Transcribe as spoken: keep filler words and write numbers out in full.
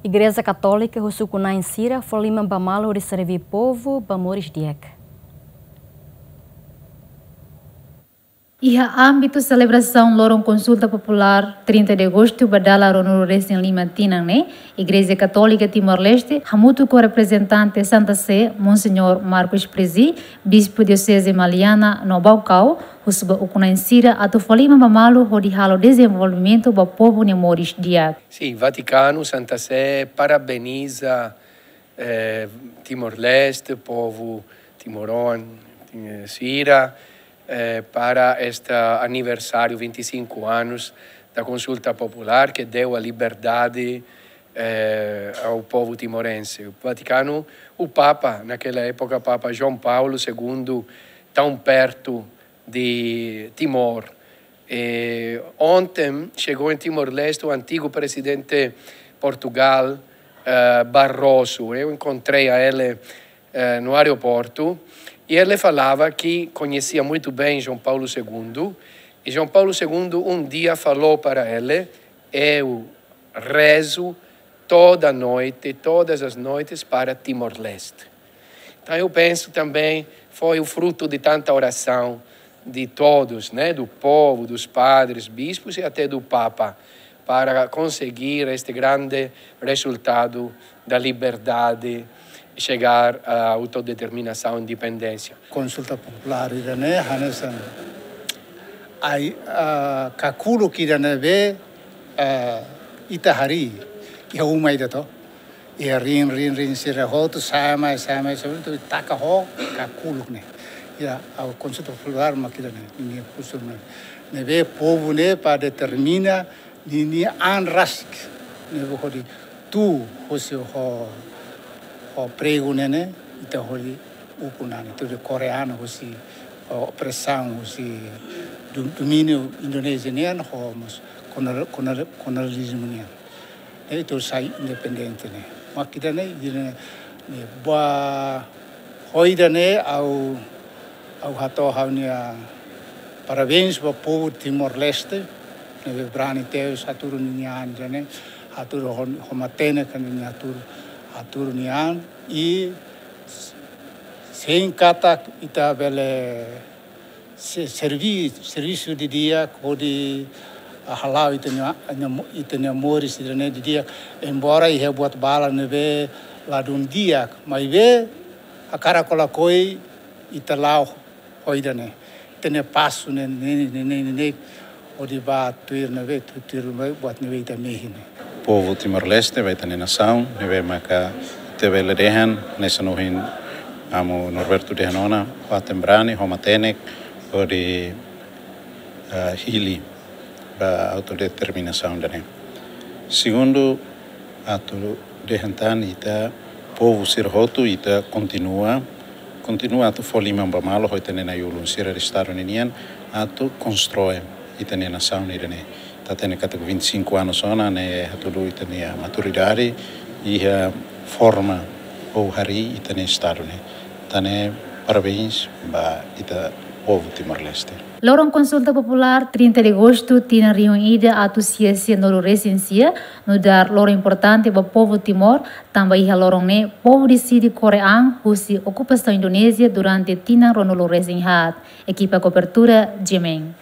Igreja Katólika husu ukun-na'in sira fó liman ba malu hodi serví povu ba moris di'ak. Iha ámbitu selebrasaun loron konsulta populár trinta de agostu ba dala ruanulu-resin-lima tinan ne'e, Igreja Katólika Timor-Leste, hamutuk ho reprezentante Santa Sé, Monseñór Marcos Prezzi, Bispu Dioseze Maliana no Baucau, husu ba ukun-na'in sira atu fó liman ba malu hodi halo dezenvolvimentu ba povu nia moris di'ak. Sin, Vatikanu, Santa Sé parabeniza, eh, Timor-Leste, povu timoroan, eh, sira, eh, para este aniversário, vinte e cinco anos da consulta popular que deu a liberdade, eh, ao povo timorense. O Vaticano, o Papa, naquela época, Papa João Paulo segundo, tão perto de Timor. Eh, ontem chegou em Timor-Leste o antigo presidente Portugal, eh, Barroso. Eu encontrei a ele, eh, no aeroporto e ele falava que conhecia muito bem João Paulo segundo. E João Paulo segundo um dia falou para ele: "Eu rezo toda noite, todas as noites para Timor-Leste." Então, eu penso também foi o fruto de tanta oração de todos, né, do povo, dos padres, bispos e até do Papa, para conseguir este grande resultado da liberdade, chegar à autodeterminação e independência. Konsulta populár ida-ne'e hanesan ai, ah, kakuluk ida ne'ebé, ah, ita harii iha uma ida to. Iha riin, riin, riin sira hotu, sa'e mai, sa'e mai, sa'e mai, atu taka ho kakuluk ne'e. Iha, ah, konsulta populár mak ida-ne'e, ninia funsaun ne'e. Ne'ebé povu ne'e para determina ninia an rasik. Ne'ebé hodi tuu hosi ho, ho pregu ne'e ne'e, ita hodi ukun an, ita hodi kore an hosi, ho opresaun, hosi do-, domíniu Indonézia nian, ho mós kolonial-, kolonial-, kolonializmu nian. Ne'e ita sai independente ne'e. Mak ida-ne'e, ida-ne'e, ne'e ba ho ida-ne'e ha'u, ha'u hato'o ha'u-nia parabéns ba povu Timor-Leste, ne'ebé brani tebes hatudu ninia an ida-ne'e, hatudu ho, ho matenek ninia hatudu, hatudu nia an, i sein katak ita bele se-, servi-, servisu didi'ak hodi, ah, hala'o ita-nia, ita-nia moris ida-ne'e didi'ak, embora iha buat balu ne'ebé ladún di'ak, maibé hakarak lakohi ita la'o ho ida-ne'e. Ita-nia pasu ne'e, ne'e, ne'e, ne'e, ne'e, hodi ba tuir ne'ebé, tu-, tuir ne'ebé, buat ne'ebé ita mehi ne'e. Povu Timor-Leste, ba ita-nia nasaun, ne'ebé maka ita bele dehan, hanesan ohin amu Norberto dehan ona, fatin brani, ho matenek, hodi, ah, hili ba autodeterminasaun ida-ne'e. Segundu, atu dehan tan ita povu sira hotu ita kontinua, kontinua atu fó liman ba malu ho ita-nia na'i-ulun sira Estadu ninian atu konstroi ita-nia nasaun ida-ne'e. Ita hatene katak vinte e cinco anos ona ne'e hatudu ita-nia maturidade iha forma ou harii ita-nia Estadu ne'e. Tan ne'e parabéns ba ita povu Timor-Leste. Loron konsulta populár trinta de agostu tinan rihun ida atus sia sianulu-resin-sia, nu'udar loron importante ba povu Timor, tanba iha loron ne'e povu deside kore an husi okupasaun Indonézia durante tinan ruanulu-resin-haat. Ekipa kobertura, G M N.